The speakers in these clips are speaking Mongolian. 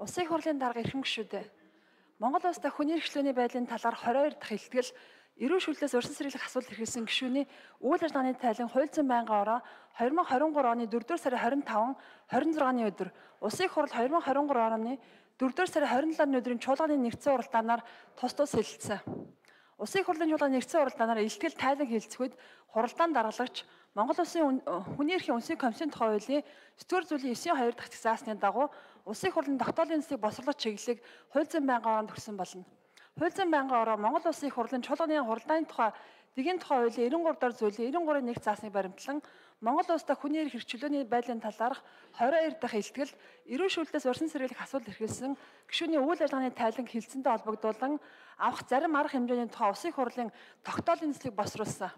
Улсын их хурлын дарга эрхэм гишүүдээ. Монгол улстай хүний эрхчлөөний байдлын талаар 22 дахь илтгэл эрүүл шүүлтээс урьдчилан сэргийлэх асуулт хэрэгсэн гишүүний үйл ажиллагааны тайлан хуульцсан байнгын ороо 2023 оны 4-р сарын 25, 26-ны өдөр Улсын их хурл 2023 оны 4-р сарын 27-ны өдрийн чуулганы нэгдсэн уралдаанаар тус хэлэлцсэн. Улсын их хурлын чуулганы нэгдсэн уралдаанаар илтгэл тайлан хэлэлцэхэд хуралдаан даргалагч Монгол Улсын хүний эрхийн үндэсний комиссийн тухай хуулийн 9-р зүйлийн 9-2 дахь заасны дагуу Улсын их хурлын тогтоолын эсрэг босрлох чиглэлийг хуульцсан байнгын ороонд өгсөн болно. Хуульцсан байнгын ороо Монгол Улсын их хурлын чуулганы хуралдааны тухай дэгийн тухай хуулийн 93 дахь зүйлийн 93-ын 1 заасныг баримтлан Монгол улстай хүний эрх эрхчлөөний байдлын талаарх 22 дахь илтгэл эрүүл шүүлтээс урьдчилан сэргийлэх асуулт эрхэлсэн гишүүний үйл ажиллагааны тайлан хэлэлцэнтэй холбогдуулан авах зарим арга хэмжээний тухай Улсын их хурлын тогтоолын эслийг босруулсан.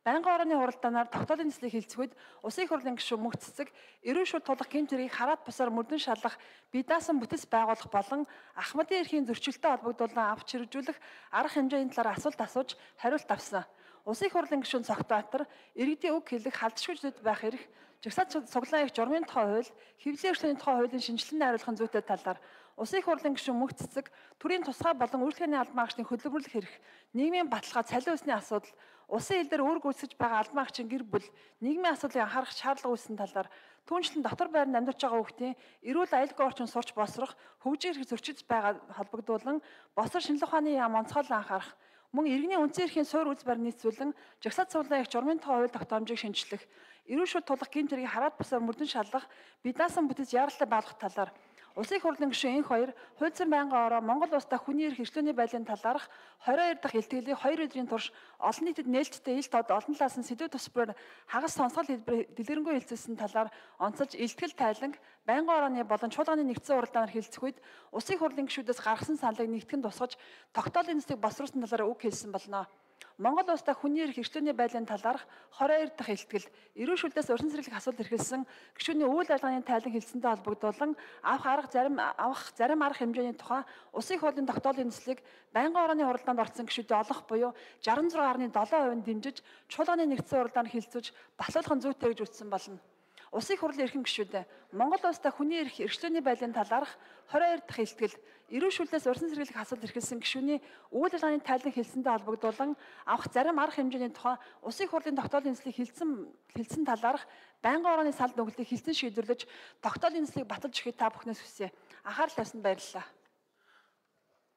Байнгын орооны хуралдаанаар тогтоолын эслийг хэлцэхэд Улсын их хурлын гишүүн мөнх цэцэг эрүүл шүүлт тулах гэмт хэргийг хараат бусаар мөрдөн шалгах бие даасан бүтэц байгуулах болон Ахмадын эрхийн зөрчилтэй холбогдуулан авч хэрэгжүүлэх арга хэмжээний талаар асуулт асууж хариулт авсан. Улсын их хурлын гишүүн Цогтбаатар иргэдийн үг хэлэх халдшгүй зүйл байх эрх, жагсаалт цуглаан их журмын тухай хууль, хэвлэлийн эрхлөөний тухай хуулийн шинжилгээний хариулахын зүйтэй талаар Улсын их хурлын гишүүн мөнх цэцэг төрийн тусгай болон үйлчлэгээний албан хаагчдын хөдөлмөрлөх эрх, нийгмийн баталгаа, цалин усны асуудал, улсын хил дээр үүрэг гүйцэтгэж байгаа албан хаагчийн гэр бүл, нийгмийн асуудлыг анхаарах шаардлага үүссэн талаар түүнчлэн дотор байранд амьдарч байгаа хүүхдийн эрүүл аюулгүй орчин сурч босрох, хөгжих эрх зөрчиж байгаа холбогдуулан босор шинжилгээ ухааны яам онцгойлон анхаарах, мөн иргэний үндсэн эрхийн суурь үйлс барь нийцүүлэн жагсаалт цуглаан их журмын тухай хууль тогтоомжийг шинжлэх, эрүүл шүүлт тулах гэмт хэргийг хараат бусаар мөрдөн шалгах, бие даасан бүтэц яаралтай байгуулах талаар Улсын их хурлын гишүүн энх хоёр хуульцсан байнгын ороо Монгол улстай хүний эрх эрхлөөний байдлын талаарх 22 дахь илтгэлийг 2 өдрийн турш олон нийтэд нээлттэй ил тод олон талаас нь сэдв тусбараар хагас сонсгол хэлбэр дэлгэрэнгүй хэлцүүлсэн талаар онцолж илтгэл тайланг байнгын орооны болон чуулганы нэгдсэн уралдаанаар хэлцэх үед Улсын их хурлын гишүүдээс гаргасан саналыг нэгтгэн тусгаж тогтоолын эслийг босруулсан талаар үг хэлсэн болно. Монгол улстай хүний эрх эрхлөөний байдлын талаарх 22 дахь илтгэл эрүүл шүүлтээс урьдчилан сэргийлэх асуулт эрхэлсэн гишүүний үйл ажиллагааны тайлан хэлцэнтэй холбогдуулан авах зарим арга хэмжээний тухай Улсын их хурлын тогтоолын эслийг байнгын орооны хуралдаанд орсон гишүүдэд олох буюу 66.7% дэмжиж чуулганы нэгдсэн уралдаанд хэлцүүлж батлуулахын зүйтэй гэж үзсэн болно. Улсын их хурлын эрхэм гишүүдээ Монгол улстай хүний эрх эрхлөөний байдлын талаарх 22 дахь илтгэл эрүүл шүүлтээс урьдчилан сэргийлэх асуулт эрхэлсэн гишүүний үйл ажиллагааны тайлан хэлсэнтэй холбогдуулан авах зарим арга хэмжээний тухай Улсын их хурлын тогтоолын эслийг хэлсэн талаарх байнгын орооны салд нүгэлтийг хэлсэн шийдвэрлэж тогтоолын эслийг баталж өгөхийг та бүхнээс хүсье. Анхаарал тавьсанд баярлалаа.